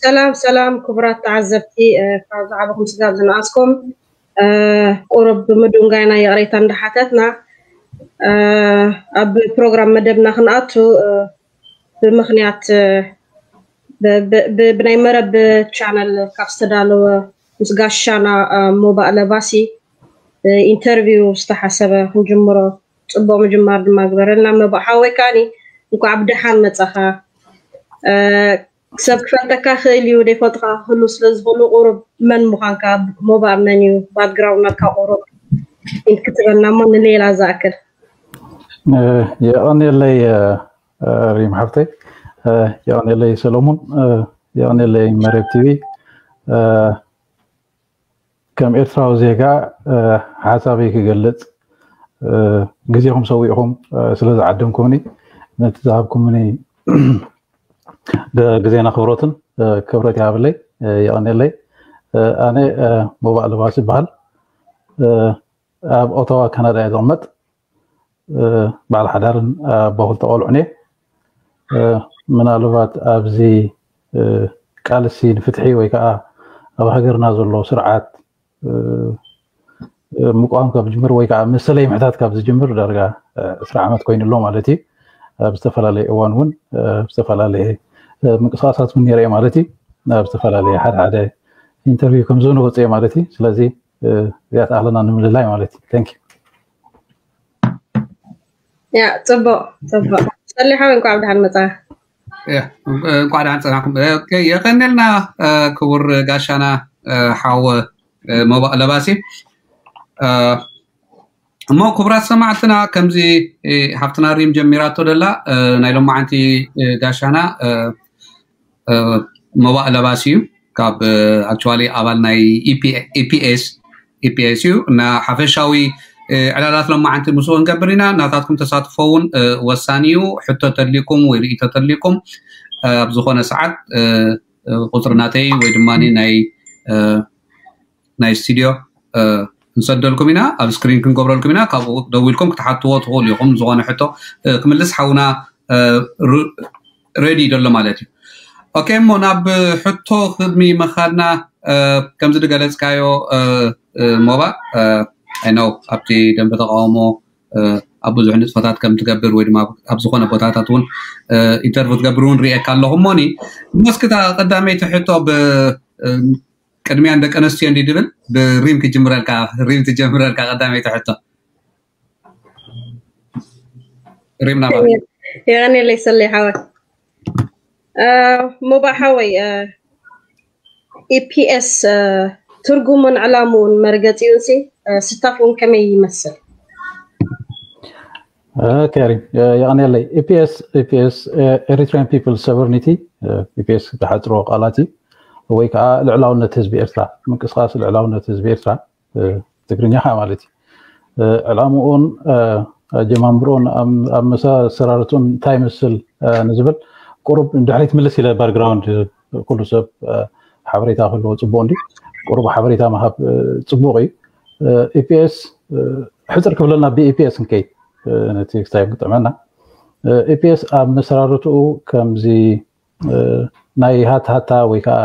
ሰላም ሰላም ክቡራት ተዓዘብቲ፣ ካብ ዝዓበኹም ስጋብ ዝነኣስኩም፣ ቁሩብ ብምድንጋይና ይቕሬታ እንዳሓተትና፣ ኣብ ፕሮግራም መደብና ክንኣቱ፣ ብምኽንያት ብናይ መረብ ቻነል ካብ ዝተዳለወ ምስ ጋሻና ሞባእ ለባሲ ኢንተርቪው ዝተሓሰበ ክንጅምሮ። ጽቡቕ ምጅማር ድማ ግበረልና። መባእ ሓወይ ከኣኒ እንኳዕ ብደሓን መጻኻ። ሰብ ክፈልጠካ ክእል እዩ፣ ደይፈልጥካ ክህሉ ስለ ዝኽእሉ ቁሩብ መን ምዃንካ፣ ሞባእ መን እዩ፣ ባክግራውንድ ናትካ ቁሩብ ኢንት ክትበልና እሞ ንሌላ ዝኣክል። የቐንየለይ ሪም ሓፍተይ፣ የቐንየለይ ሰሎሙን፣ የቐንየለይ መሬብ ቲቪ። ከም ኤርትራዊ ዜጋ ሓሳበይ ክገልጽ ግዜኹም ሰዊእኹም ስለ ዝዓደምኩምኒ፣ ነቲ ዝሃብኩምኒ ግዜን ኣኽብሮትን ክብረት ይሃበለይ፣ የቐንየለይ። ኣነ ሞባእ ለባሲ ይበሃል። ኣብ ኦታዋ ካናዳ እየ ዝቕመጥ። በዓል ሓዳርን ኣቦ ክልተ ቆልዑን እየ። ምናልባት ኣብዚ ቃልሲ ንፍትሒ ወይ ከዓ ኣብ ሃገርና ዘሎ ስርዓት ምቋም ካብ ዝጅምር ወይ ከዓ መሰለይ ምሕታት ካብ ዝጅምር ዳርጋ ዕስራ ዓመት ኮይኑ ኣሎ ማለት እዩ። ኣብ ዝተፈላለየ እዋን እውን ኣብ ዝተፈላለየ ምንቅስቃሳት እውን ነይረ እየ ማለት እዩ። ኣብ ዝተፈላለየ ሓደ ሓደ ኢንተርቪው ከም ዝንወፅ እየ ማለት እዩ። ስለዚ እዚኣ ትኣኽለና ንምልላይ ማለት እዩ። Thank you። ያ ጽቡቕ ጽቡቕ። ሰሊሓ እንኳዕ ብደሓን መጻ። እንኳዕ ደሓን ጸናሕኩም። የቀንልና ክቡር ጋሻና ሓወ ሞባእ ለባሲ። እሞ ክቡራት ሰማዕትና፣ ከምዚ ሓፍትና ሪም ጀሚራቶ ደላ፣ ናይ ሎማዓንቲ ጋሻና ሞባእ ለባሲ እዩ። ካብ ኣክቹዋሊ ኣባል ናይ ኢፒኤስ ኢፒኤስ እዩ እና ሓፈሻዊ ዕላላት ሎማዓንቲ ምስኡ ክንገብር ኢና። ናታትኩም ተሳትፎ እውን ወሳኒ እዩ። ሕቶ ተድሊኩም ወይ ርእቶ ተድሊኩም ኣብ ዝኾነ ሰዓት ቁፅሪ ናተይ ወይ ድማ ናይ ናይ ስቱዲዮ ክንሰደልኩም ኢና፣ ኣብ ስክሪን ክንገብረልኩም ኢና። ካብኡ ደዊልኩም ክትሓትዎ ትኽእሉ ኢኹም። ዝኾነ ሕቶ ክምልስ ሓውና ሬዲ ደሎ ማለት እዩ። ኦኬ፣ እሞ ናብ ሕቶ ክድሚ መኻድና፣ ከምዚ ዝገለጽካዮ ሞባ፣ ኣይ ነው ኣብቲ ደንበ ተቃውሞ ኣብ ብዙሕ ንጥፈታት ከም ትገብር ወይ ድማ ኣብ ዝኾነ ቦታታት እውን ኢንተርቪው ትገብር እውን ርእየካ ኣለኹ። እሞኒ መስክታ ቀዳመይቲ ሕቶ ብ ቅድሚያ ደቂ ኣንስትዮ እንዲ ድብል ብሪም ክጅምረልካ፣ ሪም ትጀምረልካ ቀዳመይቲ ሕቶ። ሪም ናባ። የቀንየለይ ሰለይ ሓወይ። ሞባእ ሓወይ፣ ኢፒኤስ ትርጉሙን ዕላምኡን መርገጺኡን ሲ ስታፍኡን ከመይ ይመስል? ኦኬ ሪም፣ የቐንየለይ። ኢፒኤስ፣ ኢፒኤስ፣ ኤሪትሪያን ፒፕል ሶቨርኒቲ፣ ኢፒኤስ ዝሓፅሮ ቃላት እዩ። ወይ ከዓ ልዕላውነት ህዝቢ ኤርትራ፣ ምንቅስቃስ ልዕላውነት ህዝቢ ኤርትራ፣ ትግርኛ ከዓ ማለት እዩ። ዕላምኡን ኣጀማምርኡን ኣመሰራርትኡን እንታይ ይመስል ንዝብል ቁሩብ ንድሕሪት ምልስ ኢለ ባክግራውንድ ኩሉ ሰብ ሓበሬታ ክህልዎ ፅቡቅ እንዲ ቁሩብ ሓበሬታ ምሃብ ፅቡቅ እዩ። ኢፒኤስ ሕፅር ክብለልና ብኢፒኤስ ንከይድ ነቲ ክስታይ ክጥዕመና። ኢፒኤስ ኣብ መሰራርትኡ ከምዚ ናይ ሃታ ሃታ ወይ ከዓ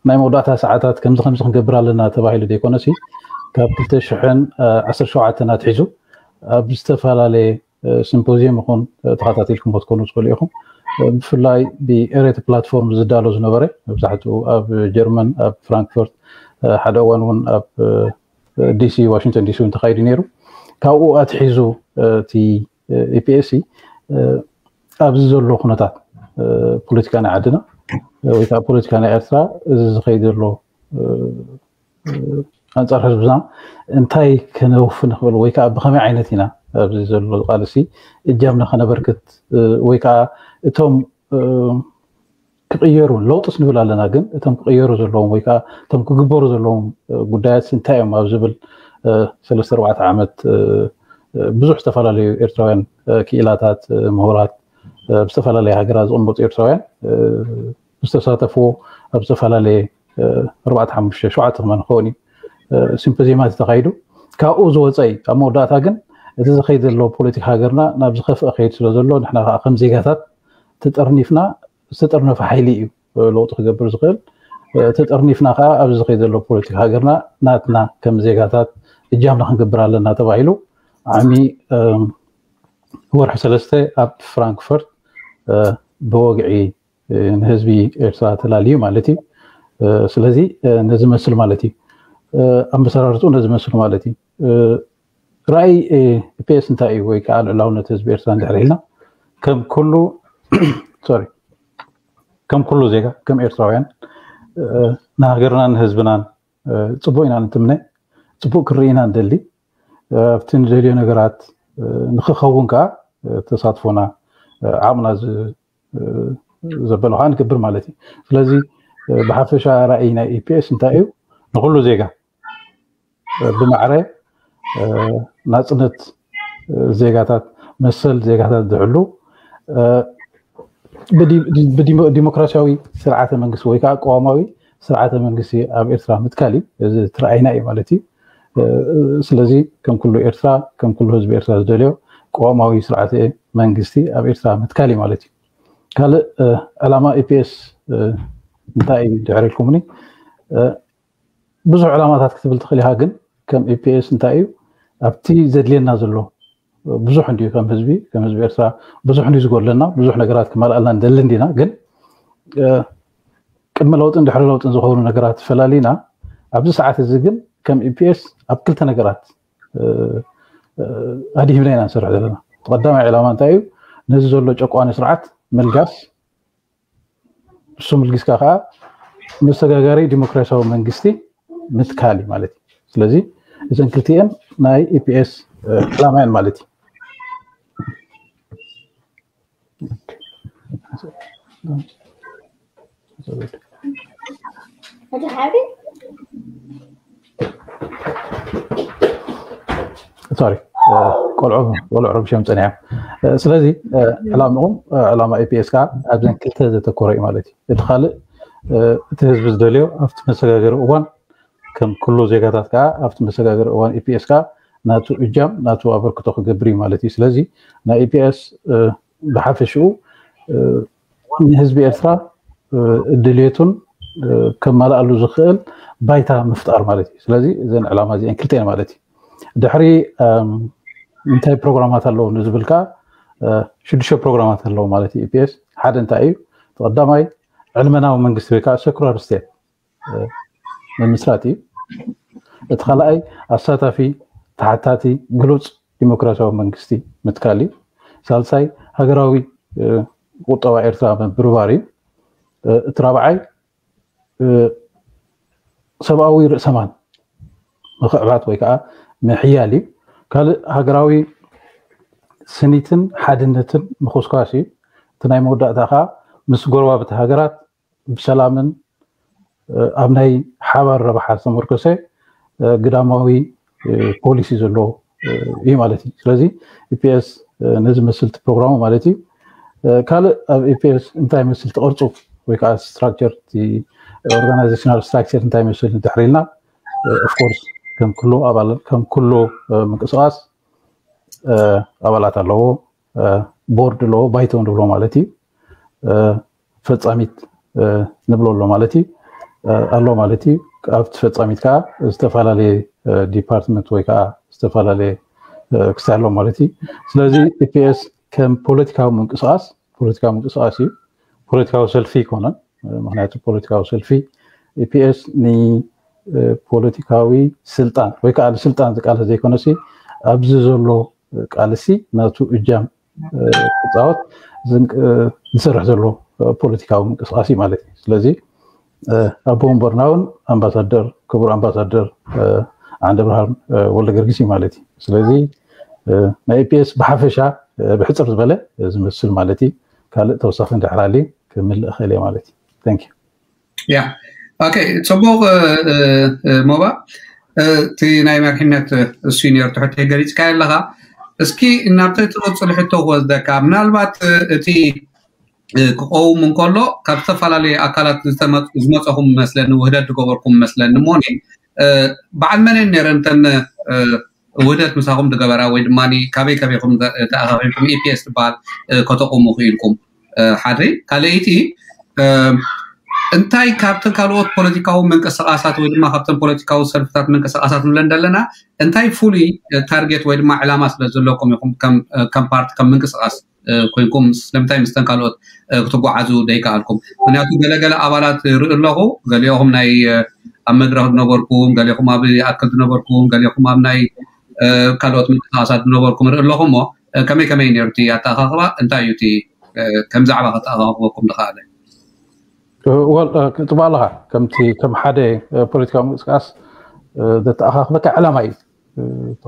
ናይ መወዳእታ ሰዓታት ከምዚ ከምዚ ክንገብር ኣለና ተባሂሉ ዘይኮነሲ ካብ ክልተ ሽሕን ዓሰርተ ሸውዓተን ኣትሒዙ ኣብ ዝተፈላለየ ሲምፖዚየም ይኹን ተኸታቲልኩም ክትኮኑ ትኽእሉ ኢኹም። ብፍላይ ብኤሬት ፕላትፎርም ዝዳሎ ዝነበረ መብዛሕትኡ ኣብ ጀርመን ኣብ ፍራንክፈርት ሓደ እዋን እውን ኣብ ዲሲ ዋሽንግተን ዲሲ እውን ተኻይዱ ነይሩ። ካብኡ ኣትሒዙ እቲ ኢፒኤስሲ ኣብዚ ዘሎ ኩነታት ፖለቲካ ናይ ዓድና ወይ ከዓ ፖለቲካ ናይ ኤርትራ እዚ ዝኸይድ ዘሎ ኣንፃር ህዝብና እንታይ ከነውፍ ንኽእል ወይ ከዓ ብኸመይ ዓይነት ኢና ኣብዚ ዘሎ ቃልሲ እጃምና ከነበርክት ወይ ከዓ እቶም ክቕየሩ ለውጥስ ንብል ኣለና፣ ግን እቶም ክቕየሩ ዘለዎም ወይ ከዓ እቶም ክግበሩ ዘለዎም ጉዳያት እንታይ እዮም ኣብ ዝብል ሰለስተ ኣርባዕተ ዓመት ብዙሕ ዝተፈላለዩ ኤርትራውያን ክኢላታት፣ ምሁራት፣ ኣብ ዝተፈላለየ ሃገራት ዝቕመጡ ኤርትራውያን ዝተሳተፍዎ ኣብ ዝተፈላለየ ኣርባዕተ ሓሙሽተ ሸውዓተ ክመን ክኸውን እዩ ሲምፖዚየማት ተኻይዱ። ካብኡ ዝወፀ እዩ ኣብ መወዳእታ ግን እቲ ዝኸይድ ዘሎ ፖለቲካ ሃገርና ናብ ዝኸፍአ ከይድ ስለ ዘሎ ንሕና ከዓ ከም ዜጋታት ተጠርኒፍና ዝተጠርነፈ ሓይሊ እዩ ለውጢ ክገብር ዝኽእል። ተጠርኒፍና ከዓ ኣብዚ ዝኸይ ዘሎ ፖለቲካ ሃገርና ናትና ከም ዜጋታት እጃምና ክንገብር ኣለና ተባሂሉ ዓሚ ወርሒ ሰለስተ ኣብ ፍራንክፈርት ብወግዒ ንህዝቢ ኤርትራ ተላልዩ ማለት እዩ። ስለዚ ነዚ መስል ማለት እዩ። ኣመሰራርትኡ ነዚ መስል ማለት እዩ። ራእይ ኢፒኤስ እንታይ እዩ ወይ ከዓ ልዕላውነት ህዝቢ ኤርትራ እንድሕር ኢልና ከም ኩሉ ሶሪ ከም ኩሉ ዜጋ ከም ኤርትራውያን ንሃገርናን ንህዝብናን ፅቡቅ ኢና ንትምነ፣ ፅቡቅ ክርኢ ኢና ንደሊ። ኣብቲ ንደልዮ ነገራት ንክኸውን ከዓ ተሳትፎና ዓቕምና ዘበለ ከዓ ንገብር ማለት እዩ። ስለዚ ብሓፈሻ ራእይ ናይ ኢፒኤስ እንታይ እዩ? ንኩሉ ዜጋ ብማዕረ ናፅነት ዜጋታት መሰል ዜጋታት ዝሕሉ ዲሞክራሲያዊ ስርዓተ መንግስቲ ወይ ከዓ ቀዋማዊ ስርዓተ መንግስቲ ኣብ ኤርትራ ምትካል እዩ። እዚ ትረኣይና እዩ ማለት እዩ። ስለዚ ከም ኩሉ ኤርትራ ከም ኩሉ ህዝቢ ኤርትራ ዝደልዮ ቀዋማዊ ስርዓተ መንግስቲ ኣብ ኤርትራ ምትካል እዩ ማለት እዩ። ካልእ ዕላማ ኢፒኤስ እንታይ እዩ ድሕር ኢልኩምኒ ብዙሕ ዕላማታት ክትብል ትኽእል ኢኻ። ግን ከም ኢፒኤስ እንታይ እዩ ኣብቲ ዘድልየና ዘሎ ብዙሕ እንዲዩ ከም ህዝቢ ከም ህዝቢ ኤርትራ ብዙሕ እንዲዩ ዝጎድለና ብዙሕ ነገራት ክመልኣልና ንደሊ እንዲና። ግን ቅድሚ ለውጥን ድሕሪ ለውጥን ዝኸውን ነገራት ፈላሊና ኣብዚ ሰዓት እዚ ግን ከም ኢፒኤስ ኣብ ክልተ ነገራት ኣድሂብና ኢና ንሰርሕ ዘለና። ቀዳማይ ዕላማ እንታይ እዩ? ነዚ ዘሎ ጨቋኒ ስርዓት ምልጋስ፣ እሱ ምልጊስካ ከዓ መሰጋጋሪ ዲሞክራሲያዊ መንግስቲ ምትካል እዩ ማለት እዩ። ስለዚ እዘን ክልቲኤን ናይ ኢፒኤስ ዕላማ እየን ማለት እዩ። ሶሪ ቆልዑ ቆልዑ ረብሽዮም ፀኒሖም። ስለዚ ዕላምኦም ዕላማ ኢፒኤስ ከዓ ኣብዘን ክልተ ዘተኮረ እዩ ማለት እዩ። እቲ ካልእ እቲ ህዝቢ ዝደልዮ ኣብቲ መሰጋገሪ እዋን ከም ኩሉ ዜጋታት ከዓ ኣብቲ መሰጋገሪ እዋን ኢፒኤስ ከዓ ናቱ እጃም ናቱ ኣበርክቶ ክገብር እዩ ማለት እዩ። ስለዚ ናይ ኢፒኤስ ብሓፈሽኡ ንህዝቢ ኤርትራ ድልየቱን ከማልኣሉ ዝኽእል ባይታ ምፍጣር ማለት እዩ። ስለዚ እዘን ዕላማ እዚአን ክልተን ማለት እዩ። ድሕሪ እንታይ ፕሮግራማት ኣለዉ ንዝብል ከዓ ሽዱሽተ ፕሮግራማት ኣለዉ ማለት እዩ። ኢፒኤስ ሓደ እንታይ እዩ? ቀዳማይ ዕልመናዊ መንግስቲ ወይ ከዓ ሰኩላር ስቴት ምምስራት እዩ። እቲ ካልኣይ ኣሳታፊ፣ ተሓታቲ፣ ግሉፅ ዲሞክራሲያዊ መንግስቲ ምትካል እዩ። ሳልሳይ ሃገራዊ ቁጠባ ኤርትራ ምብርባር እዩ። እቲ ራብዓይ ሰብኣዊ ርእሰማል ምኽዕባት ወይ ከዓ ምሕያል እዩ። ካልእ ሃገራዊ ስኒትን ሓድነትን ምኹስኳስ እዩ። እቲ ናይ መወዳእታ ከዓ ምስ ጎረባብቲ ሃገራት ብሰላምን ኣብ ናይ ሓባር ረብሓ ዝተመርኮሰ ግዳማዊ ፖሊሲ ዘለዎ እዩ ማለት እዩ። ስለዚ ኢፒኤስ ነዚ መስልቲ ፕሮግራሙ ማለት እዩ። ካልእ ኣብ ኢፒኤስ እንታይ መስል ትቕርፁ ወይ ከዓ ስትራክቸር ኦርጋናይዜሽናል ስትራክቸር እንታይ መስል ንድሕር ኢልና ኦፍኮርስ ከም ኩሉ ኣባል ከም ኩሉ ምንቅስቃስ ኣባላት ኣለዎ፣ ቦርድ ኣለዎ፣ ባይቶ ንብሎ ማለት እዩ። ፈፃሚት ንብሎ ኣሎ ማለት እዩ ኣሎ ማለት እዩ። ኣብቲ ፈፃሚት ከዓ ዝተፈላለየ ዲፓርትመንት ወይ ከዓ ዝተፈላለየ ክስታይ ኣሎ ማለት እዩ። ስለዚ ኢፒኤስ ከም ፖለቲካዊ ምንቅስቃስ ፖለቲካዊ ምንቅስቃስ እዩ። ፖለቲካዊ ሰልፊ ይኮነን። ምክንያቱ ፖለቲካዊ ሰልፊ ኢፒኤስ ንፖለቲካዊ ስልጣን ወይ ከዓ ንስልጣን ዝቃለስ ዘይኮነሲ ኣብዚ ዘሎ ቃልሲ ናቱ እጃም ክፃወት ዝሰርሕ ዘሎ ፖለቲካዊ ምንቅስቃስ እዩ ማለት እዩ። ስለዚ ኣቦ ወንበርና እውን ኣምባሳደር ክቡር ኣምባሳደር ዓንደ ብርሃን ወልደ ገርጊስ እዩ ማለት እዩ። ስለዚ ናይ ኢፒኤስ ብሓፈሻ ብሕፅር ዝበለ ዝመስል ማለት እዩ። ካልእ ተወሳኺ እንድሕር ኣልዩ ክምልእ እኽእል እየ ማለት እዩ። Thank you። ያ ኦኬ፣ ፅቡቕ ሞባ፣ እቲ ናይ መሪሕነት ሲኒየር ትሕቲ ገሊፅካዮ ኣለኻ። እስኪ እናብቲ ትቕፅል ሕቶ ክወስደካ፣ ምናልባት እቲ ክቀውም እንከሎ ካብ ዝተፈላለዩ ኣካላት ዝመፀኹም መስለኒ፣ ውህደት ዝገበርኩም መስለኒ። እሞኒ በዓል መን ነረን ተን ውህደት ምሳኹም ዝገበራ ወይ ድማ ካበይ ከበይኹም ተኣኻኺብኩም ኢፒኤስ ዝበሃል ከተቑሙ ክኢልኩም? ሓደ ካልኣይቲ እንታይ ካብተን ካልኦት ፖለቲካዊ ምንቅስቃሳት ወይ ድማ ካብተን ፖለቲካዊ ሰልፍታት ምንቅስቃሳት ንብለን ዘለና እንታይ ፍሉይ ታርጌት ወይ ድማ ዕላማ ስለ ዘለኩም ኢኹም ከም ፓርቲ ከም ምንቅስቃስ ኮይንኩም ስለምንታይ ምስተን ካልኦት ክትጓዓዙ ደይከኣልኩም? ምክንያቱ ገለገለ ኣባላት ርኢ ኣለኹ፣ ገሊኦኹም ናይ ኣብ መድረክ ዝነበርኩም፣ ገሊኹም ኣብ ይኣክል ዝነበርኩም፣ ገሊኹም ኣብ ናይ ካልኦት ምንቅስቃሳት ዝነበርኩም ርኢ ኣለኹ። እሞ ከመይ ከመይ ነይሩ እቲ ኣተኣኻኽባ? እንታይ እዩ እቲ ከም ዛዕባ ከተኣኻኽበኩም ዝኸኣለ? ጽቡቅ ኣለኻ። ከምቲ ከም ሓደ ፖለቲካዊ ምንቅስቃስ ዘተኣኻኽበካ ዕላማ እዩ።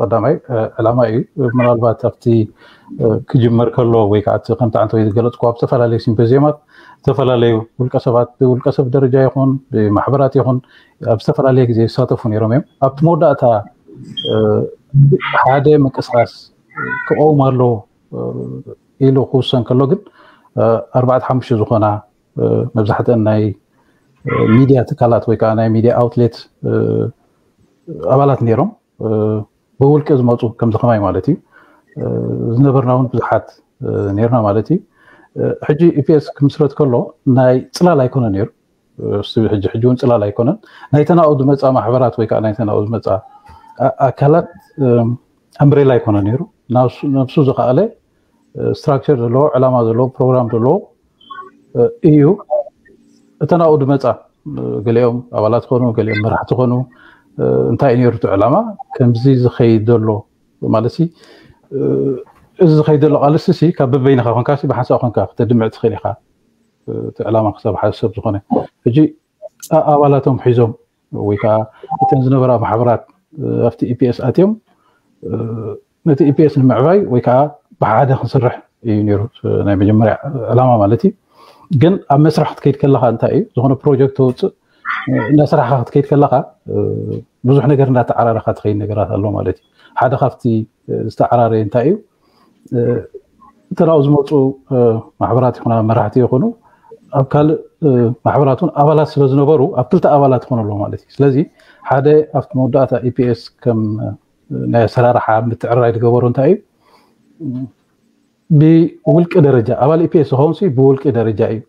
ቀዳማይ ዕላማ እዩ። ምናልባት ኣብቲ ክጅመር ከሎ ወይ ከዓ ከምቲ ዓንተ ዝገለፅኩ ኣብ ዝተፈላለዩ ሲምፖዚየማት ዝተፈላለዩ ውልቀሰባት ብውልቀሰብ ደረጃ ይኹን ብማሕበራት ይኹን ኣብ ዝተፈላለየ ግዜ ይሳተፉ ነይሮም እዮም። ኣብቲ መወዳእታ ሓደ ምንቅስቃስ ክቀውም ኣለዎ ኢሉ ክውሰን ከሎ ግን ኣርባዕተ ሓሙሽተ ዝኾና መብዛሕትአን ናይ ሚድያ ትካላት ወይ ከዓ ናይ ሚድያ ኣውትሌት ኣባላት ነይሮም። ብውልቂ ዝመፁ ከምዚ ከማይ ማለት እዩ። ዝነበርና እውን ብዙሓት ነይርና ማለት እዩ። ሕጂ ኢፒኤስ ክምስረት ከሎ ናይ ፅላል ኣይኮነ ነይሩ። ሕጂ ሕጂ እውን ፅላል ኣይኮነን። ናይ ተናኡ ዝመፃ ማሕበራት ወይ ከዓ ናይ ተናኡ ዝመፃ ኣካላት ኣምብሬላ ኣይኮነ ነይሩ። ነብሱ ዝኸኣለ ስትራክቸር ዘለዎ ዕላማ ዘለዎ ፕሮግራም ዘለዎ እዩ። እተን ኣብኡ ዝመፃ ገሊኦም ኣባላት ኾኑ ገሊኦም መራሕቲ ኾኑ እንታይ እዩ ነይሩ እቲ ዕላማ ከምዚ ዝኸይድ ዘሎ ማለት እዚ ዝኸይድ ዘሎ ቃልሲ ካብ በበይንኻ ኮንካ ብሓንሳእ ኮንካ ክተድምዕ ትኽእል ኢኻ። እቲ ዕላማ ክሳብ ሓደ ሰብ ዝኾነ ሕጂ ኣባላቶም ሒዞም ወይ ከዓ እተን ዝነበራ ማሕበራት ኣብቲ ኢፒኤስ ኣትዮም ነቲ ኢፒኤስ ንምዕባይ ወይ ከዓ ብሓደ ክንሰርሕ እዩ ነይሩ ናይ መጀመርያ ዕላማ ማለት እዩ። ግን ኣብ መስራሕ ክትከይድ ከለካ እንታይ እዩ ዝኾነ ፕሮጀክት ተውፅእ እናሰራሕካ ክትከይድ ከለካ ብዙሕ ነገር እንዳተዓራረካ ትኸይድ ነገራት ኣሎ ማለት እዩ። ሓደ ካብቲ ዝተዓራረየ እንታይ እዩ እተን ኣብኡ ዝመፁ ማሕበራት ይኹና መራሕቲ ይኹኑ ኣብ ካልእ ማሕበራት እውን ኣባላት ስለ ዝነበሩ ኣብ ክልተ ኣባላት ይኾኑ ኣለዉ ማለት እዩ። ስለዚ ሓደ ኣብቲ መወዳእታ ኢፒኤስ ከም ናይ ኣሰራርሓ ምትዕርራይ ዝገበሩ እንታይ እዩ ብውልቂ ደረጃ ኣባል ኢፒኤስ ዝኸውን ብውልቂ ደረጃ እዩ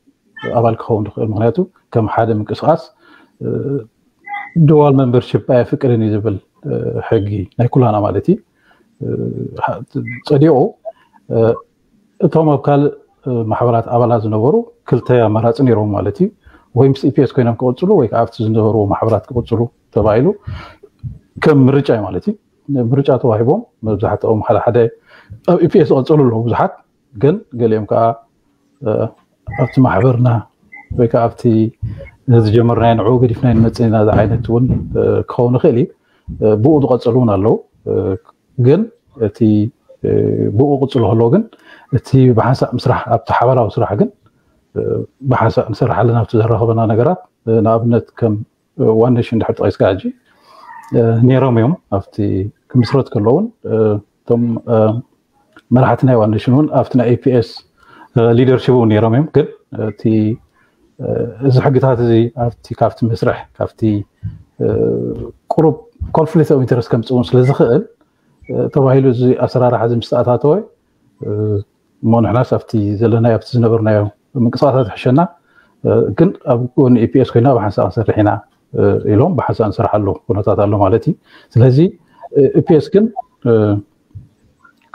ኣባል ክኸውን ዝኽእል። ምክንያቱ ከም ሓደ ምንቅስቃስ ድዋል መንበርሽፕ ኣየፍቅድን እዩ ዝብል ሕጊ ናይ ኩላና ማለት እዩ ፀዲቑ እቶም ኣብ ካልእ ማሕበራት ኣባላት ዝነበሩ ክልተ ኣማራፂ ነይሮም ማለት እዩ። ወይ ምስ ኢፒኤስ ኮይኖም ክቕፅሉ ወይ ከዓ ኣብቲ ዝነበሩ ማሕበራት ክቕፅሉ ተባሂሉ ከም ምርጫ እዩ ማለት እዩ። ምርጫ ተዋሂቦም መብዛሕትኦም ሓደ ሓደ ኣብ ኢፒኤስ ዝቐፅሉ ኣለዉ ብዙሓት ግን ገሊኦም ከዓ ኣብቲ ማሕበርና ወይ ከዓ ኣብቲ ዝጀመርናዮ ንዕኡ ገዲፍና ንመፅእ ኢና ዓይነት እውን ክኸውን ይኽእል እዩ። ብኡ ዝቐፅሉ እውን ኣለዉ። ግን እቲ ብኡ ቅፅሉ ከለዎ ግን እቲ ብሓንሳእ ምስራሕ ኣብቲ ሓባራዊ ስራሕ ግን ብሓንሳእ ንሰርሕ ኣለና ኣብቲ ዘራኸበና ነገራት ንኣብነት ከም ዋን ኔሽን ድሕር ጠቂስካ ሕጂ ነይሮም እዮም ኣብቲ ክምስረት ከለውን እቶም መራሕቲ ናይ ዋን ኔሽን እውን ኣብቲ ናይ ኢፒኤስ ሊደርሽፕ እውን ነይሮም እዮም ግን እቲ እዚ ሕግታት እዚ ኣብቲ ካብቲ መስርሕ ካብቲ ቁሩብ ኮንፍሊክት ኦፍ ኢንተረስት ከምፅእ እውን ስለዝኽእል ተባሂሉ እዚ ኣሰራርሓ እዚ ምስ ተኣታተወ እሞ ንሕናስ ኣብቲ ዘለናዮ ኣብቲ ዝነበርናዮ ምንቅስቃሳት ይሕሸና ግን ኣብ ጎኒ ኢፒኤስ ኮይና ብሓንሳእ ክንሰርሕ ኢና ኢሎም ብሓንሳእ ንሰርሓሉ ኩነታት ኣሎ ማለት እዩ። ስለዚ ኢፒኤስ ግን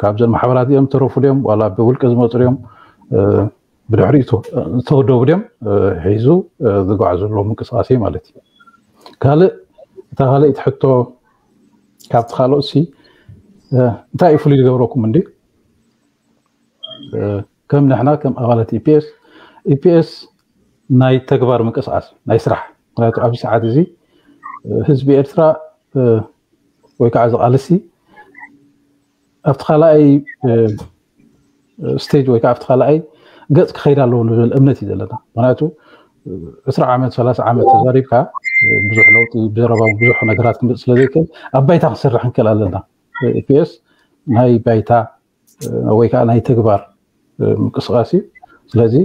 ካብዘን ማሕበራት እዮም ተረፉ ድዮም ዋላ ብውልቂ ዝመፁ ድዮም ብድሕሪኡ ዝተወደቡ ድዮም ሒዙ ዝጓዓዘሉ ምንቅስቃስ እዩ ማለት እዩ። ካልእ እታ ካልኣይቲ ሕቶ ካብቲ ካልኦት ሲ እንታይ እዩ ፍሉይ ዝገብረኩም እንዲ ከም ንሕና ከም ኣባላት ኢፒኤስ ኢፒኤስ ናይ ተግባር ምንቅስቃስ ናይ ስራሕ ምክንያቱ ኣብዚ ሰዓት እዚ ህዝቢ ኤርትራ ወይ ከዓ ዝቃልሲ ኣብቲ ካልኣይ ስቴጅ ወይ ከዓ ኣብቲ ካልኣይ ገፅ ክኸይድ ኣለዎ ንብል እምነት እዩ ዘለና። ምክንያቱ ዕስራ ዓመት ሰላሳ ዓመት ተዛሪብካ ብዙሕ ለውጢ ብዘረባ ብዙሕ ነገራት ክምፅእ ስለዘይክእል ኣብ ባይታ ክንሰርሕ ክንክእል ኣለና። ኢፒኤስ ናይ ባይታ ወይ ከዓ ናይ ተግባር ምንቅስቃስ እዩ። ስለዚ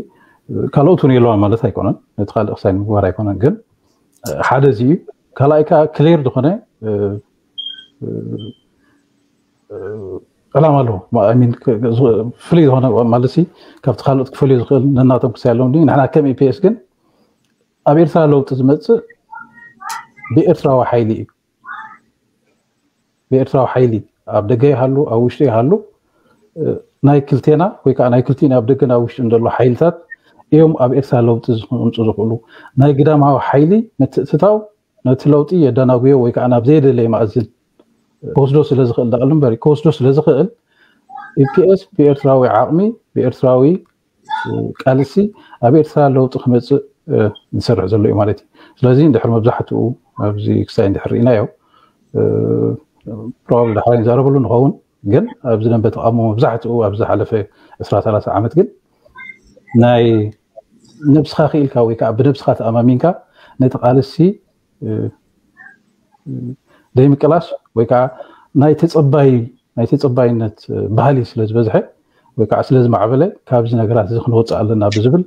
ካልኦት እውን የለዋን ማለት ኣይኮነን፣ ነቲ ካልእ ክሳይ ንምግባር ኣይኮነን። ግን ሓደ እዚ እዩ። ካልኣይ ከዓ ክሌር ዝኾነ ዕላማ ኣለዎ። ፍሉይ ዝኾነ ማለት ሲ ካብቲ ካልኦት ክፈልዩ ዝኽእል ነናቶም ክሳይ ኣለዎም። ንሕና ከም ኢፒኤስ ግን ኣብ ኤርትራ ለውጢ ዝመፅእ ብኤርትራዊ ሓይሊ እዩ። ብኤርትራዊ ሓይሊ ኣብ ደገ ይሃሉ ኣብ ውሽጢ ይሃሉ ናይ ክልቴና ወይ ከዓ ናይ ክልቲን ኣብ ደገን ኣብ ውሽጢ እንደሎ ሓይልታት እዮም ኣብ ኤርትራ ለውጢ ዝምፁ ዝኽእሉ። ናይ ግዳማዊ ሓይሊ ምትእትታው ነቲ ለውጢ የደናጉዮ ወይ ከዓ ናብ ዘየደለየ ማእዝን ክወስዶ ስለ ዝኽእል ዳኣሉ እምበር ክወስዶ ስለ ዝኽእል ኢፒኤስ ብኤርትራዊ ዓቕሚ ብኤርትራዊ ቃልሲ ኣብ ኤርትራ ለውጢ ክመፅእ ዝሰርሕ ዘሎ እዩ ማለት እዩ። ስለዚ እንድሕር መብዛሕትኡ ኣብዚ ክሳይ እንድሕር ርኢናዮ ፕሮባብሊ ዳሕራይ ንዛረበሉ ንኸውን፣ ግን ኣብዚ ደንበ ተቃውሞ መብዛሕትኡ ኣብ ዝሓለፈ ዕስራ ሰላሳ ዓመት ግን ናይ ነብስኻ ክኢልካ ወይ ከዓ ብነብስኻ ተኣማሚንካ ነቲ ቃልሲ ዘይምቅላስ ወይ ከዓ ናይ ተፀባይ ናይ ተፀባይነት ባህሊ ስለ ዝበዝሐ ወይ ከዓ ስለ ዝማዕበለ ካብዚ ነገራት እዚ ክንወፅእ ኣለና ብዝብል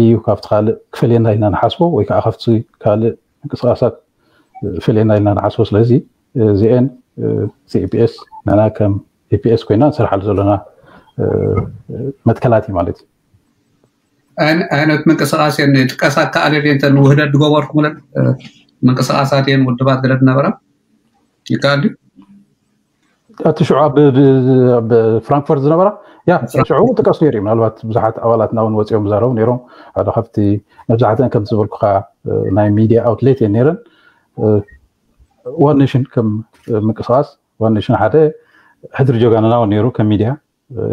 እዩ ካብቲ ካልእ ክፈልየና ኢልና ንሓስቦ ወይ ከዓ ካብቲ ካልእ ምንቅስቃሳት ፈልየና ኢልና ንሓስቦ። ስለዚ እዚኤን ኢፒኤስ ንና ከም ኢፒኤስ ኮይና ንሰርሓሉ ዘለና መትከላት እዩ ማለት እዩ። ዓይነት ምንቅስቃስ እየን ጥቀሳ ከኣለ ድየ እንተ ንውህደት ዝገበርኩምለን ምንቅስቃሳት እየን ውድባት ገለ ዝነበራ ይከኣል ድዩ? እቲ ሽዑ ኣብ ፍራንክፈርት ዝነበራ ያ ሽዑ እውን ጥቀስ ነይሩ እዩ። ምናልባት ብዙሓት ኣባላትና እውን ወፂኦም ዝዛረቡ ነይሮም። ሓደ ካብቲ መብዛሕትአን ከም ዝበልኩካ ናይ ሚዲያ ኣውትሌት እየን ነይረን። ዋን ኔሽን ከም ምንቅስቃስ ዋን ኔሽን ሓደ ሕድሪ ጀጋንና እውን ነይሩ ከም ሚዲያ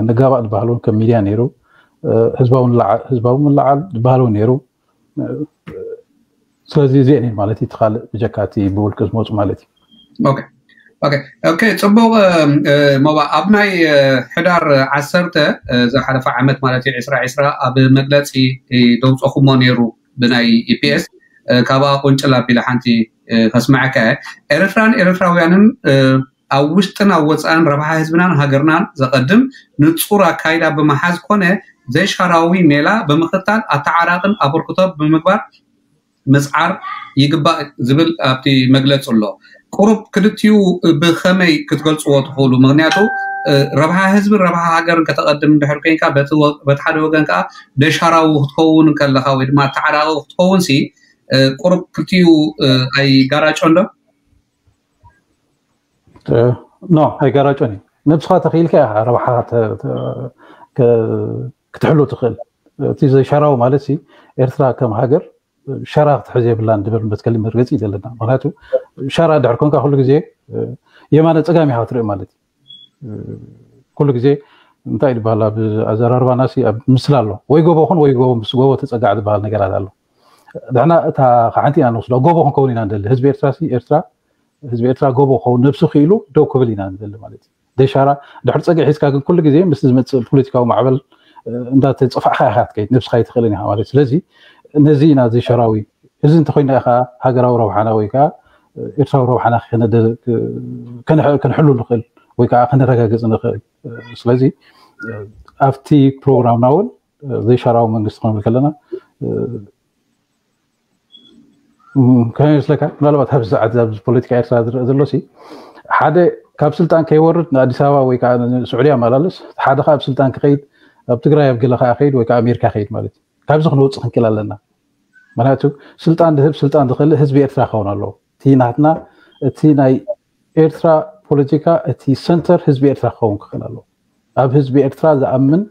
ንጋባእ ዝበሃል እውን ከም ሚድያ ነይሩ። ህዝባዊ ምልዓል ዝበሃል እውን ነይሩ። ስለዚ እዚአን እየን ማለት እዩ። እቲ ካልእ ብጀካ እቲ ብውልቂ ዝመፁ ማለት እዩ። ኦኬ ጽቡቅ ሞባ ኣብ ናይ ሕዳር ዓሰርተ ዝሓለፈ ዓመት ማለት እዩ ዕስራ ዕስራ ኣብ መግለፂ ደውፀኹሞ ነይሩ ብናይ ኢፒኤስ ካብኣ ቁንጭል ኣቢለ ሓንቲ ከስምዐካ ኤርትራን ኤርትራውያንን ኣብ ውሽጥን ኣብ ወፃእን ረብሓ ህዝብናን ሃገርናን ዘቐድም ንፁር ኣካይዳ ብምሓዝ ኮነ ዘይሻራዊ ሜላ ብምኽታል ኣተዓራቕን ኣበርክቶ ብምግባር ምፅዓር ይግባእ ዝብል ኣብቲ መግለፂ ኣሎ። ቁሩብ ክልቲኡ ብኸመይ ክትገልፅዎ ትኽእሉ? ምክንያቱ ረብሓ ህዝብን ረብሓ ሃገርን ከተቐድም እንድሕር ኮይንካ በቲ ሓደ ወገን ከዓ ደሻራዊ ክትከውን ከለካ ወይ ድማ ኣተዓራቂ ክትከውን ሲ ቁሩብ ክልቲኡ ኣይጋራጮ እንዶ? ኖ ኣይጋራጮን እዩ። ነብስኻ ተኽኢልካ ኢኻ ረብሓ ክትሕሉ ትኽእል። እቲ ዘይሻራዊ ማለት ሲ ኤርትራ ከም ሃገር ሸራ ክትሕዝ የብላን ድብል መትከሊ መርገፂ እዩ ዘለና። ምክንያቱ ሸራ ድሕር ኮንካ ኩሉ ግዜ የማነ ፀጋም ኢኻ ክትርኢ ማለት እዩ። ኩሉ ግዜ እንታይ ዝበሃል ኣብ ኣዘራርባና ሲ ኣብ ምስላ ኣሎ ወይ ጎቦ ኹን ወይ ጎቦ ምስ ጎቦ ተፀጋዕ ዝበሃል ነገራት ኣሎ። ንሕና እታ ሓንቲ ኢና ንወስዶ ጎቦ ክንከውን ኢና ንደሊ። ህዝቢ ኤርትራ ሲ ኤርትራ ህዝቢ ኤርትራ ጎቦ ክኸውን ነብሱ ክኢሉ ደው ክብል ኢና ንደሊ ማለት እዩ። ደሻራ ድሕር ፀግዒ ሒዝካ ግን ኩሉ ግዜ ምስ ዝመፅእ ፖለቲካዊ ማዕበል እንዳተፅፋዕካ ኢካ ትከይድ ነብስካ ኣይትኽእልን ኢካ ማለት እዩ። ስለዚ ነዚ ኢና እዚ ሸራዊ እዚ እንተኮይና ኢካ ሃገራዊ ረብሓና ወይ ከዓ ኤርትራዊ ረብሓና ክንሕሉ ንኽእል ወይ ከዓ ከነረጋግፅ ንኽእል። ስለዚ ኣብቲ ፕሮግራምና እውን ዘይሻራዊ መንግስቲ ክንብል ከለና ከመይ ይመስለካ? ምናልባት ኣብዚ ሰዓት ኣብዚ ፖለቲካ ኤርትራ ዝረአ ዘሎ ሲ ሓደ ካብ ስልጣን ከይወርድ ንኣዲስ ኣበባ ወይ ከዓ ንስዑዲ ኣመላልስ፣ ሓደ ከዓ ኣብ ስልጣን ክኸይድ ኣብ ትግራይ ኣብ ገለ ከዓ ከይድ ወይ ከዓ ኣሜሪካ ከይድ ማለት እዩ። ካብዚ ክንወፅእ ክንክእል ኣለና። ምክንያቱ ስልጣን ዝህብ ስልጣን ዝኸልእ ህዝቢ ኤርትራ ክኸውን ኣለዎ። እቲ ናትና እቲ ናይ ኤርትራ ፖለቲካ እቲ ሰንተር ህዝቢ ኤርትራ ክኸውን ክኽእል ኣለዎ። ኣብ ህዝቢ ኤርትራ ዝኣምን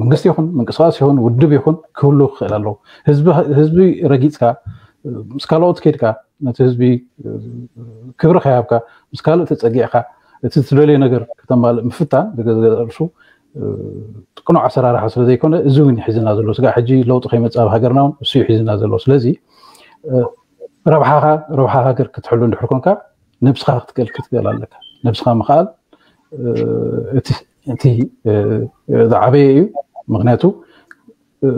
መንግስቲ ይኹን ምንቅስቃስ ይኹን ውድብ ይኹን ክህሉ ክኽእል ኣለዎ። ህዝቢ ረጊፅካ ምስ ካልኦት ከይድካ ነቲ ህዝቢ ክብሪ ከይሃብካ ምስ ካልእ ተፀጊዕካ እቲ ትደልዮ ነገር ከተማልእ ምፍታን ብገዛእ ርእሱ ቅኑዕ ኣሰራርሓ ስለ ዘይኮነ እዚ እውን ይሕዝና ዘሎ። ስጋዕ ሕጂ ለውጢ ከይመፅእ ኣብ ሃገርና እውን እሱ ይሕዝና ዘሎ። ስለዚ ረብሓኻ ረብሓ ሃገር ክትሕሉ እንድሕር ኮንካ ነብስኻ ክትክእል ክትክእል ኣለካ። ነብስኻ ምኽኣል እቲ ዝዓበየ እዩ። ምክንያቱ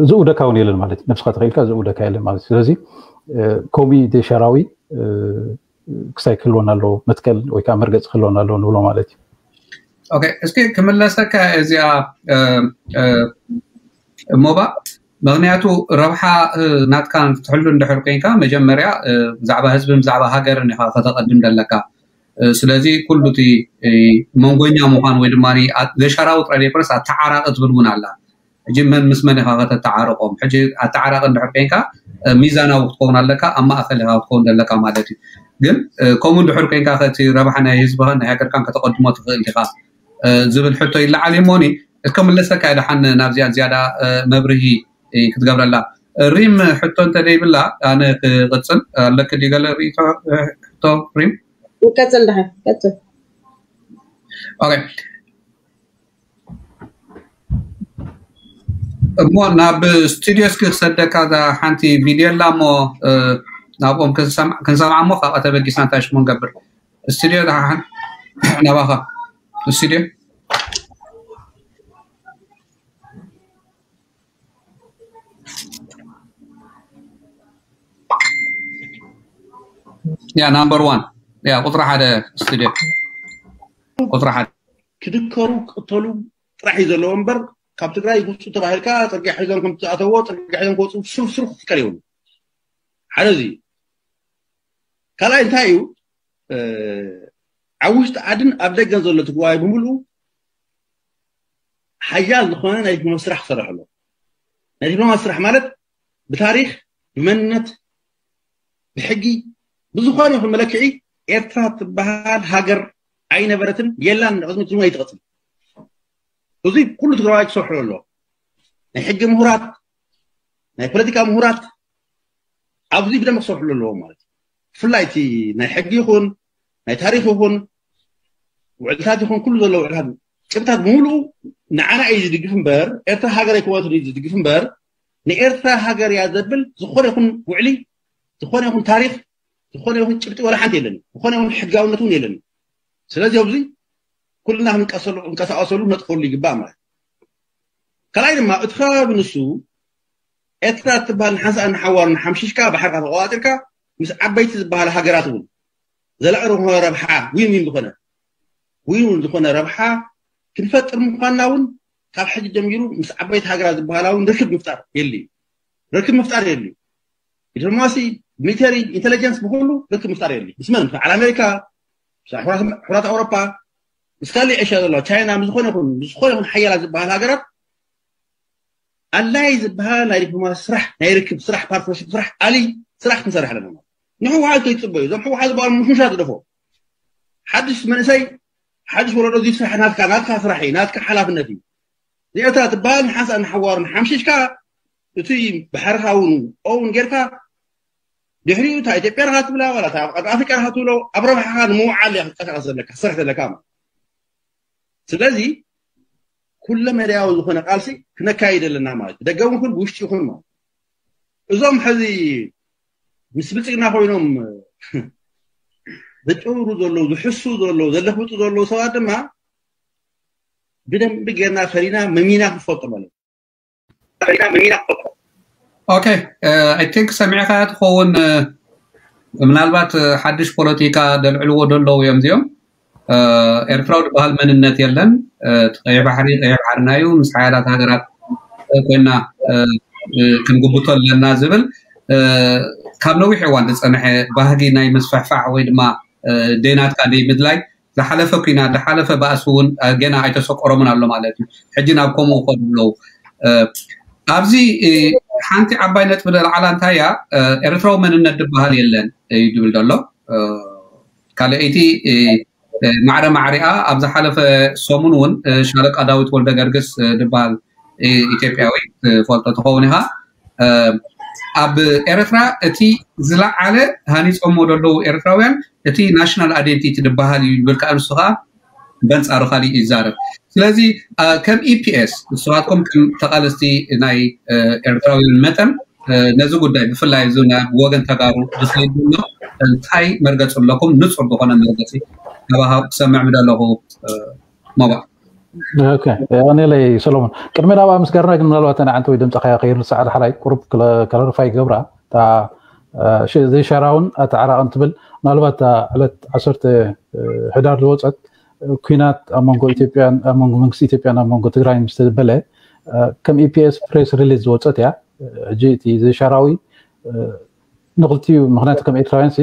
ዝእውደካ እውን የለን ማለት እዩ። ነብስኻ ተኽኢልካ ዝእውደካ የለን ማለት እዩ። ስለዚ ኮሚ ደሻራዊ ክሳይ ክህልወና ኣለዎ መትከል ወይ ከዓ መርገፂ ክህልወና ኣለዎ ንብሎ ማለት እዩ። ኦኬ እስኪ ክምለሰካ እዚኣ ሞባ ምክንያቱ ረብሓ ናትካ ክትሕሉ እንድሕር ኮይንካ መጀመርያ ብዛዕባ ህዝብን ብዛዕባ ሃገርን ኢካ ከተቐድም ዘለካ። ስለዚ ኩሉ እቲ መንጎኛ ምዃን ወይ ድማ ዘሻራዊ ጥራይ ዘይኮነስ ኣተዓራቂ ትብል እውን ኣላ። ሕጂ መን ምስ መን ኢኻ ከተተዓርቆም? ሕጂ ኣተዓራቂ እንድሕር ኮይንካ ሚዛናዊ ክትከውን ኣለካ፣ ኣብ ማእከል ኢኻ ክትከውን ዘለካ ማለት እዩ። ግን ከምኡ እንድሕር ኮይንካ ከቲ ረብሓ ናይ ህዝብኻን ናይ ሃገርካን ከተቐድሞ ትኽእል ዲኻ ዝብል ሕቶ ይለዓል እዩ። እሞኒ እስከ ምለሰካ ድሓን ናብዚኣ ዝያዳ መብርሂ ክትገብረላ። ሪም ሕቶ እንተ ደይብላ ኣነ ክቕጽል ኣለክ ድዩ ገለ ርእይቶ? ሕቶ ሪም ቀጽል ድሓን ቀጽል። ኦኬ እሞ ናብ ስቱዲዮ እስኪ ክሰደካ እዛ ሓንቲ ቪድዮ ኣላ እሞ ናብኦም ክንሰምዓ እሞ ካብኣ ተበጊስና እንታይ ሽሙ ንገብር። ስቱዲዮ ደሓን ናባኻ ስቱዲዮ። ያ ናምበር ዋን ያ ቁፅሪ ሓደ ስቱዲዮ ቁፅሪ ሓደ ክድከሩ ክቅተሉ ጥራሕ እዩ ዘለዎ እምበር ካብ ትግራይ ውፁ ተባሂልካ ፅርግያ ሒዞም ከም ትኣተዎ ፅርግያ ሒዞም ክወፁ ስሩፍ ስሩፍ ክፍቀር ይብሉ። ሓደ እዚ ካልኣይ እንታይ እዩ ኣብ ውሽጢ ዓድን ኣብ ደገን ዘሎ ትግራዋይ ብምሉኡ ሓያል ዝኾነ ናይ ዲፕሎማሲ ስራሕ ክሰርሕ ኣሎ። ናይ ዲፕሎማሲ ስራሕ ማለት ብታሪክ ብመንነት ብሕጊ ብዝኾነ ይኹን መለክዒ ኤርትራ ትበሃል ሃገር ኣይነበረትን የላን፣ ንቅድሚ ትርጉም ኣይትቐጽል። እዚ ኩሉ ትግራዋይ ክሰርሑ ኣሎ። ናይ ሕጊ ምሁራት፣ ናይ ፖለቲካ ምሁራት ኣብዚ ብደንብ ክሰርሕሉ ኣለዎም ማለት እዩ። ብፍላይ እቲ ናይ ሕጊ ይኹን ናይ ታሪክ ይኹን ውዕልታት ይኹን ኩሉ ዘሎ ውዕልታት ጭብታት ብምሉኡ ንዓና እዩ ዝድግፍ እምበር ኤርትራ ሃገር ኣይኮነትን እዩ ዝድግፍ እምበር ንኤርትራ ሃገር እያ ዘብል ዝኾነ ይኹን ውዕሊ ዝኾነ ይኹን ታሪክ ዝኾነ ይኹን ጭብጢ ወላ ሓንቲ የለን። ዝኾነ ይኹን ሕጋውነት እውን የለን። ስለዚ ኣብዚ ኩልና ክንቀሳቀሰሉ ነጥፈሉ ይግባእ ማለት ካልኣይ ድማ እቲ ከባቢ ንሱ ኤርትራ ትበሃል ንሓንሳእ ንሓዋር ንሓምሽሽካ ባሕርካ ተቆጣጢርካ ምስ ዓበይቲ ዝበሃላ ሃገራት እውን ዘላቂ ዝኾነ ረብሓ ዊን ዊን ዝኾነ ዊን ዊን ዝኾነ ረብሓ ክንፈጥር ምኳንና እውን ካብ ሕጂ ጀሚሩ ምስ ዓበይቲ ሃገራት ዝበሃላ እውን ርክብ ምፍጣር የድልዩ። ርክብ ምፍጣር የድልዩ። ዲፕሎማሲ፣ ሚሊተሪ፣ ኢንቴሊጀንስ ብኩሉ ርክብ ምፍጣር የድልዩ። ምስ መን? በዓል ኣሜሪካ፣ ምስ ኣሕዋት ኣውሮፓ፣ ምስ ካልእ ኤሽያ ዘሎ ቻይና፣ ምስ ዝኾነ ይኹን ምስ ዝኾነ ይኹን ሓያላት ዝበሃል ሃገራት ኣላይ ዝበሃል ናይ ዲፕሎማሲ ስራሕ ናይ ርክብ ስራሕ ፓርትነርሽፕ ስራሕ ኣሊ ስራሕ ክንሰርሕ ኣለና። ንሕወሓት ከይትፅበዩ እዞም ሕወሓት ዝበሃሉ ምሽምሻት ግደፎ። ሓድሽ መንእሰይ ሓድሽ ወለዶ እዚ ስራሕ ናትካ ናትካ ስራሕ እዩ ናትካ ሓላፍነት እዩ። እዚኣታ ትበሃል ንሓንሳእ ንሓዋሩ ንሓምሽሽካ እቲ ባሕርኻ እውን ኦውን ጌርካ ድሕሪኡ እታ ኢትዮጵያ ርካ ትብላ ዋላ ኣብ ኣፍሪቃ ርካ ትብሎ ኣብ ረብሓኻ ንምውዓል እያ ክትንቀሳቀስ ዘለካ ክትሰርሕ ዘለካ ማለት ስለዚ ኩለ መዳያዊ ዝኾነ ቃልሲ ክነካይድ ኣለና ማለት ደገ እውን ብውሽጢ ይኹን ማለት እዞም ሕዚ ምስ ብልፅግና ኮይኖም ዘጨውሩ ዘለዉ ዝሕሱ ዘለዉ ዘለፍጡ ዘለዉ ሰባት ድማ ብደንቢ ጌርና ፈሪና መሚና ክንፈልጦ ማለት ኦኬ I think ሰሚዕካ ትኸውን ምናልባት ሓድሽ ፖለቲካ ደልዕልዎ ደለዉ እዮም እዚኦም ኤርትራዊ ዝበሃል መንነት የለን ቀይሕ ባሕሪ ቀይሕ ባሕርና እዩ ምስ ሓያላት ሃገራት ኮይና ክንግብቶ ኣለና ዝብል ካብ ነዊሕ እዋን ዝፀንሐ ባህጊ ናይ ምስፍሕፋሕ ወይ ድማ ደይናትካ ደይ ምድላይ ዝሓለፈ ኩናት ዝሓለፈ ባእሲ እውን ገና ኣይተሰቆሮምን ኣሎ ማለት እዩ ሕጂ ናብ ከምኡ ይኸዱ ኣለዉ ኣብዚ ሓንቲ ዓባይ ነጥቢ ለዓላ እንታይ እያ ኤርትራዊ መንነት ዝበሃል የለን እዩ ዝብል ዘሎ ካልኣይቲ ማዕረ ማዕሪኣ ኣብ ዝሓለፈ ሰሙን እውን ሻለቃ ዳዊት ወልደ ገርግስ ዝበሃል ኢትዮጵያዊ ትፈልጦ ትኸውን ኢኻ ኣብ ኤርትራ እቲ ዝለዓለ ሃኒፆሞ ዘለዉ ኤርትራውያን እቲ ናሽናል ኣይደንቲቲ ዝበሃል እዩ ይብል ከዓ ንሱ ከዓ በንፃሩ ካሊእ ይዛረብ ስለዚ ከም ኢፒኤስ ንስኻትኩም ከም ተቃለስቲ ናይ ኤርትራውያን መጠን ነዚ ጉዳይ ብፍላይ እዚ ናብ ወገን ተጋሩ ዝኸይድ ዘሎ እንታይ መርገፂ ኣለኩም ንፁር ዝኾነ መርገፂ ካባኻ ክሰምዕ ምደለኹ ሞባ ኦኬ ኣኔለይ ሰሎሞን ቅድሚ ናብኣ ምስ ገርና ግን ምናልባት ኣነ ዓንቲ ወይ ድምፅኻ ከይርሳዕ ዳሕራይ ቁሩብ ክላሪፋይ ይገብራ እታ ዘይሻራውን ኣተዓራቕን ትብል ምናልባት ዕለት ዓሰርተ ሕዳር ዝወፀት ኩናት ኣብ መንጎ ኢትዮጵያን ኣብ መንጎ መንግስቲ ኢትዮጵያን ኣብ መንጎ ትግራይ ምስ ተበለ ከም ኢፒኤስ ፕሬስ ሪሊዝ ዝወፀት እያ ሕጂ እቲ ዘይሻራዊ ንክልቲኡ ምክንያቱ ከም ኤርትራውያን ሲ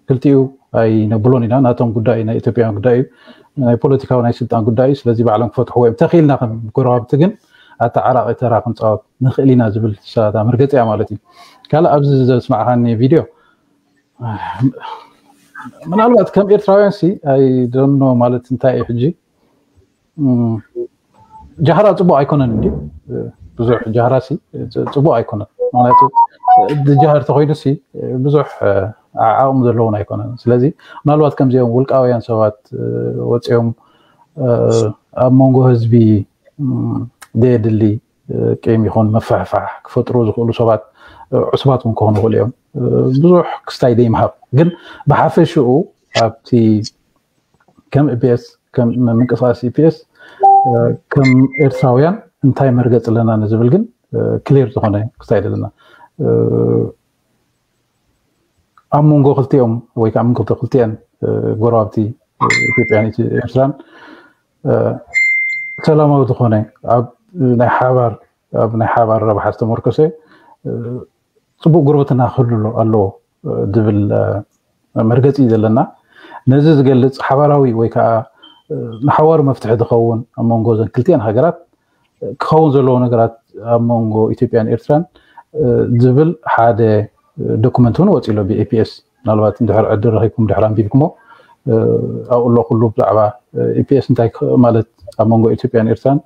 ክልቲኡ ኣይነብሎን ኢና። ናቶም ጉዳይ ናይ ኢትዮጵያውያን ጉዳይ እዩ፣ ናይ ፖለቲካዊ ናይ ስልጣን ጉዳይ እዩ። ስለዚ ባዕሎም ክፈትሕዎ እዮም። ተኽኢልና ከም ጎረባብቲ ግን ኣተዓራቒ ተራ ክንፃወት ንኽእል ኢና ዝብል ሳታ መርገፂ እያ ማለት እዩ። ካልእ ኣብዚ ዘስማዕኻኒ ቪድዮ ምናልባት ከም ኤርትራውያን ሲ ኣይደኖ ማለት እንታይ እዩ ሕጂ ጃህራ ፅቡቅ ኣይኮነን እንዲ ብዙሕ ጃህራ ሲ ፅቡቅ ኣይኮነን። ምክንያቱ ጃህር ተኮይኑ ሲ ብዙሕ ዓቅሚ ዘለውን ኣይኮነን። ስለዚ ምናልባት ከምዚኦም ውልቃውያን ሰባት ወፂኦም ኣብ መንጎ ህዝቢ ደየድሊ ቂም ይኹን መፋሕፋሕ ክፈጥሩ ዝኽእሉ ሰባት ዕሱባት እውን ክኾኑ ይኽእሉ እዮም። ብዙሕ ክስታይ ደይምሃብ ግን ብሓፈሽኡ ኣብቲ ከም ኢፒኤስ ከም ምንቅስቃስ ኢፒኤስ ከም ኤርትራውያን እንታይ መርገፂ ኣለና ንዝብል ግን ክሊር ዝኾነ ክስታይ ዘለና ኣብ መንጎ ክልቲኦም ወይ ከዓ መንጎ ክልቲኤን ጎረባብቲ ኢትዮጵያን ኤርትራን ሰላማዊ ዝኾነ ኣብ ናይ ሓባር ኣብ ናይ ሓባር ረብሓ ዝተመርኮሰ ፅቡቅ ጉርብትና ክህሉ ኣለዎ ዝብል መርገፂ እዩ ዘለና። ነዚ ዝገልፅ ሓባራዊ ወይ ከዓ ንሓዋሩ መፍትሒ ዝኸውን ኣብ መንጎ ዘን ክልቲኤን ሃገራት ክኸውን ዘለዎ ነገራት ኣብ መንጎ ኢትዮጵያን ኤርትራን ዝብል ሓደ ዶኩመንት እውን ወፂ ኣሎ ብኤፒኤስ። ምናልባት እንድሕር ዕድል ረኺብኩም ድሕር ኣንቢብኩሞ ኣብኡ ኣሎ ኩሉ ብዛዕባ ኢፒኤስ እንታይ ማለት ኣብ መንጎ ኢትዮጵያን ኤርትራን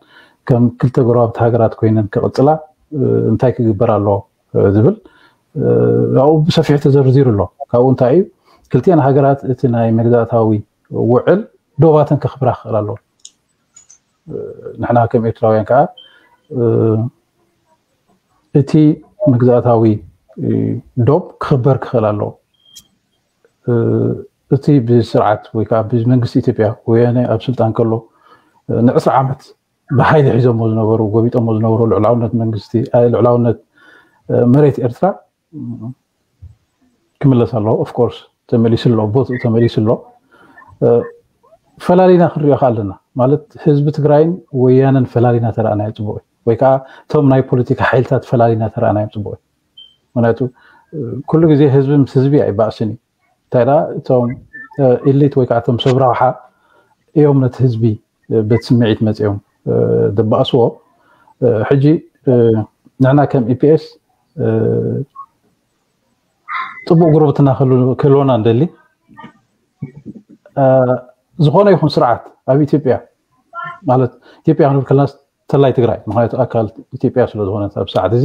ከም ክልተ ጎረባብቲ ሃገራት ኮይነን ክቕፅላ እንታይ ክግበር ኣለዎ ዝብል ኣብኡ ብሰፊሑ ተዘርዚሩ ኣሎ። ካብኡ እንታይ እዩ ክልቲኤን ሃገራት እቲ ናይ መግዛእታዊ ውዕል ዶባተን ከኽብራ ክኽእል ኣለዎ። ንሕና ከም ኤርትራውያን ከዓ እቲ መግዛእታዊ ዶብ ክኽበር ክኽእል ኣለዎ። እቲ ብስርዓት ወይ ከዓ ብመንግስቲ ኢትዮጵያ ወያነ ኣብ ስልጣን ከሎ ንዕስራ ዓመት ብሓይሊ ሒዞሞ ዝነበሩ ጎቢጦሞ ዝነበሩ ልዕላውነት መንግስቲ ልዕላውነት መሬት ኤርትራ ክምለስ ኣለዎ። ኦፍኮርስ ተመሊሱ ኣሎ፣ ቦትኡ ተመሊሱ ኣሎ። ፈላሊና ክንሪኦ ከ ኣለና ማለት ህዝቢ ትግራይን ወያነን ፈላሊና ተረኣናዮ ፅቡቅ እዩ። ወይ ከዓ እቶም ናይ ፖለቲካ ሓይልታት ፈላሊና ተረኣናዮም ፅቡቅ እዩ። ምክንያቱ ኩሉ ግዜ ህዝቢ ምስ ህዝቢ ኣይባእስን እዩ። እንታይ ደኣ እቶም ኢሊት ወይ ከዓ እቶም ሰብ ረብሓ እዮም ነቲ ህዝቢ በቲ ስምዒት መፂኦም ደባእስዎ። ሕጂ ንሕና ከም ኢፒኤስ ፅቡቅ ጉርብትና ክህልወና እንደሊ ዝኾነ ይኹን ስርዓት ኣብ ኢትዮጵያ ማለት ኢትዮጵያ ክንብል ከለና ተላይ ትግራይ ምክንያቱ ኣካል ኢትዮጵያ ስለዝኾነት ኣብ ሰዓት እዚ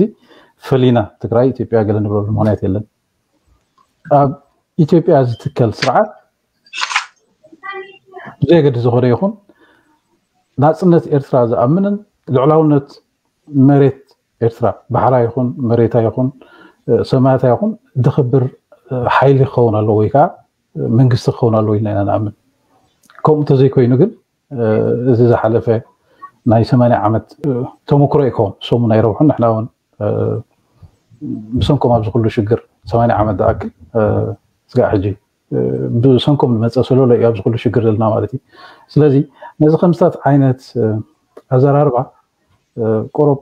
ፈሊና ትግራይ ኢትዮጵያ ገለ ንብለሉ ምክንያት የለን። ኣብ ኢትዮጵያ ዝትከል ስርዓት ብዘየገድስ ዝኾነ ይኹን ናፅነት ኤርትራ ዝኣምንን ልዕላውነት መሬት ኤርትራ ባሕራ ይኹን መሬታ ይኹን ሰማያታ ይኹን ድኽብር ሓይሊ ክኸውን ኣለዎ ወይ ከዓ መንግስቲ ክኸውን ኣለዎ ኢልና ኢና ንኣምን። ከምኡ እንተዘይኮይኑ ግን እዚ ዝሓለፈ ናይ ሰማንያ ዓመት ተመክሮ ይከውን ሰሙ ናይ ረብሑን ንሕና እውን ብሰንኮም ኣብዚ ኩሉ ሽግር ሰማንያ ዓመት ዝኣክል ስጋዕ ሕጂ ብሰንኮም ዝመፀ ሰለሎ እዩ ኣብዚ ኩሉ ሽግር ዘለና ማለት እዩ። ስለዚ ነዚ ከምስታት ዓይነት ኣዘራርባ ቁሩብ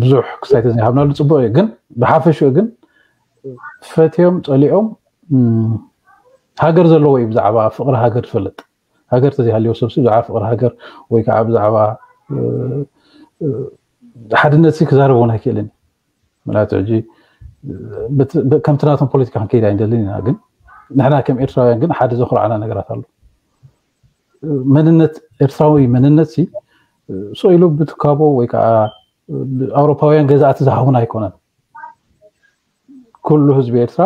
ብዙሕ ክስታይ ተዘይሃብናሉ ፅቡቅ እዩ። ግን ብሓፈሽኡ ግን ፈትዮም ፀሊኦም ሃገር ዘለዎ እዩ ብዛዕባ ፍቅሪ ሃገር ዝፈልጥ። ሃገር ተዘይሃልዮ ሰብሲ ብዛዕባ ፍቅሪ ሃገር ወይ ከዓ ብዛዕባ ሓድነት ክዛረብ እውን ኣይክእልን። ምክንያቱ ሕጂ ከምቲ ናቶም ፖለቲካ ክንከይድ ኣይንደልን ኢና። ግን ንሕና ከም ኤርትራውያን ግን ሓደ ዘኩርዓና ነገራት ኣሎ። መንነት ኤርትራዊ መንነት ሲ ስቕ ኢሉ ብትካቦ ወይ ከዓ ኣውሮፓውያን ገዛእቲ ዝሃቡና ኣይኮነን። ኩሉ ህዝቢ ኤርትራ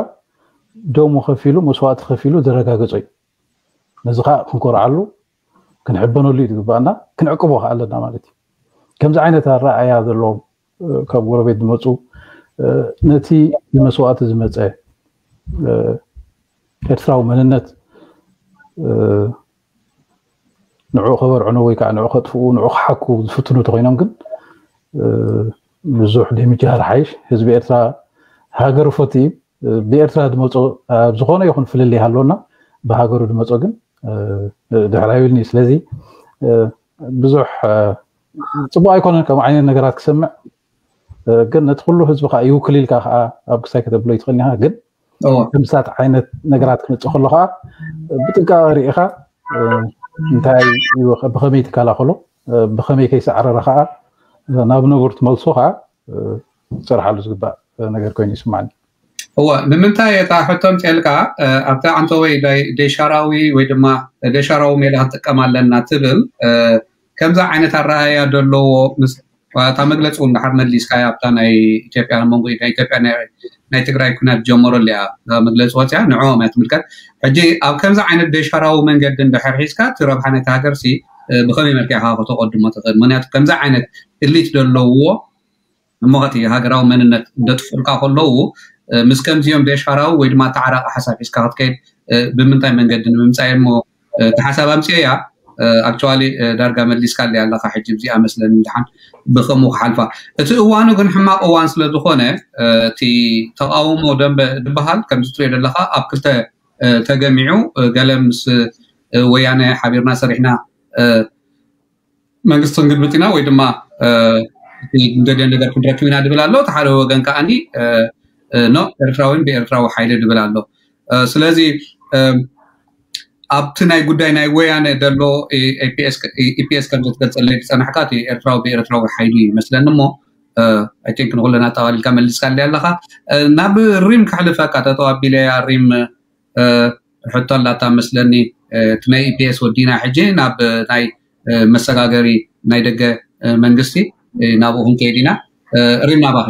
ደሙ ከፊሉ መስዋእቲ ከፊሉ ዘረጋገጾ እዩ። ነዚ ከዓ ክንኮርዓሉ ክንሕበነሉ እዩ ዝግባኣና፣ ክንዕቅቦ ከዓ ኣለና ማለት እዩ። ከምዚ ዓይነት ኣረኣእያ ዘለዎም ካብ ጎረቤት ዝመፁ ነቲ ብመስዋእቲ ዝመፀ ኤርትራዊ መንነት ንዑ ከበርዕኑ ወይ ከዓ ንዑ ከጥፍኡ ንዑ ክሓኩ ዝፍትኑ ተኮይኖም ግን ብዙሕ ደምጃር ሓይሽ ህዝቢ ኤርትራ ሃገሩ ፈት እዩ። ብኤርትራ ዝመፆ ኣብ ዝኾነ ይኹን ፍልልይ ሃለና ብሃገሩ ዝመፆ ግን ድሕር ኣይብልኒ። ስለዚ ብዙሕ ፅቡቅ ኣይኮነን ከምኡ ዓይነት ነገራት ክሰምዕ። ግን ነቲ ኩሉ ህዝቢ ከዓ ይውክል ኢልካ ከዓ ኣብ ክሳይ ከተብሎ ይትኽእል ኢኻ። ግን ከምሳት ዓይነት ነገራት ክመፅእ ከሎ ከዓ ብጥንቃቐ ርኢኻ እንታይ እዩ፣ ብኸመይ ትከላኸሎ፣ ብኸመይ ከይሰዕረረ ከዓ ናብ ንቡር ትመልሶ ከዓ ክሰርሓሉ ዝግባእ ነገር ኮይኑ ይስማዓኒ። እወ፣ ንምንታይ እታ ሕቶ ምፅልካ ኣብታ ኣንተወይ ደሻራዊ ወይ ድማ ደሻራዊ ሜላ ክንጥቀም ኣለና ትብል፣ ከምዛ ዓይነት ኣረኣያ ዘለዎ እታ መግለፂ እውን ድሓር መሊስካ ኣብታ ናይ ኢትዮጵያ መንጎ ናይ ኢትዮጵያ ናይ ትግራይ ኩናት ጀመረሉ እያ መግለፂ ወፅያ ንዕኦም እያ ትምልከት። ሕጂ ኣብ ከምዚ ዓይነት ደሻራዊ መንገዲ እንድሕር ሒዝካ እቲ ረብሓ ናይቲ ሃገር ሲ ብኸመይ መልክዕ ኢኻ ከተቐድሞ ትኽእል? ምክንያቱ ከምዚ ዓይነት እሊት ዘለውዎ እሞ እቲ ሃገራዊ መንነት እንደጥፍኡልካ ከለዉ ምስ ከምዚኦም ደሻራዊ ወይ ድማ ተዓራቂ ሓሳብ ሒዝካ ክትከይድ ብምንታይ መንገዲ ንምምፃእ እሞ እቲ ሓሳብ ኣምፅኤያ። ኣክቹዋሊ ዳርጋ መሊስካ ኣለያ ኣለካ ሕጂ እዚኣ መስለኒ ድሓን ብከምኡ ክሓልፋ። እቲ እዋኑ ግን ሕማቕ እዋን ስለ ዝኾነ እቲ ተቃውሞ ደንበ ዝበሃል ከምዚ ትሪኦ ዘለካ ኣብ ክልተ ተገሚዑ፣ ገለ ምስ ወያነ ሓቢርና ሰሪሕና መንግስቲ ክንግልብጥ ኢና ወይ ድማ እንደልዮ ነገር ክንረክብ ኢና ድብል ኣሎ። እቲ ሓደ ወገን ከዓኒ ኖ ኤርትራዊን ብኤርትራዊ ሓይሊ ድብል ኣሎ። ስለዚ ኣብቲ ናይ ጉዳይ ናይ ወያነ ዘሎ ኢፒኤስ ከም ዘትገልፀለይ ዝፀናሕካ እቲ ኤርትራዊ ብኤርትራዊ ሓይሊ ይመስለኒ እሞ ኣይቲንክ ንኩለን ኣጠቃሊልካ መሊስካ ኣለይ ኣለካ። ናብ ሪም ከሕልፈካ ጠጠው ኣቢለያ ሪም ሕቶ ኣላታ መስለኒ። እቲ ናይ ኢፒኤስ ወዲና ሕጂ ናብ ናይ መሰጋገሪ ናይ ደገ መንግስቲ ናብኡ ክንከይድ ኢና። ሪም ናባኺ።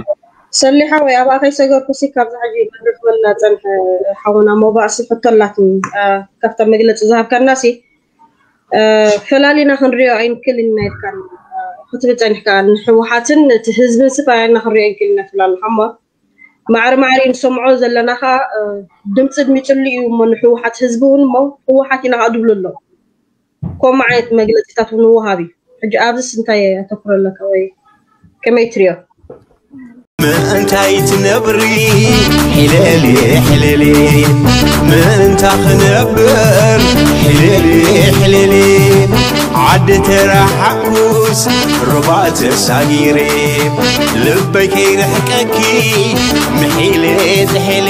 ሰሊሓ ወይ ኣብኣ ከይሰገርኩ ሲ ካብዛ ሕጂ መድረኽ መላ ጸንሐ ሓውና ሞባእ ሲ ሕቶ ኣላትኒ። ካብታ መግለጺ ዝሃብካና ሲ ፈላሊና ክንሪኦ ኣይንክልን ኢና ኢልካ ክትብል ጸኒሕካ ንሕወሓትን እቲ ህዝብን ሲ ፈላሊና ክንሪኦ ኣይንክልን ኢና ትብል ኣለኻ እሞ ማዕረ ማዕረ ንሰምዖ ዘለና ከዓ ድምፂ ድሚፅሉ እዩ እሞ ንሕወሓት ህዝቢ እውን እሞ ህወሓት ኢና ከዓ ድብሉ ኣለዉ። ከምኡ ዓይነት መግለፂታት እውን ወሃብ እዩ። ሕጂ ኣብዚስ እንታይ ኣተኩሮ ኣለካ ወይ ከመይ ትሪኦ? ምእንታይ ትነብሪ ሕለሊ ሕለሊ ምእንታ ክነብር ሕለሊ ሕለሊ ዓዲ ተረሓኩስ ሩባ ተሳጊረ ልበይ ከይርሕቀኪ ምሒለ ዝሕለ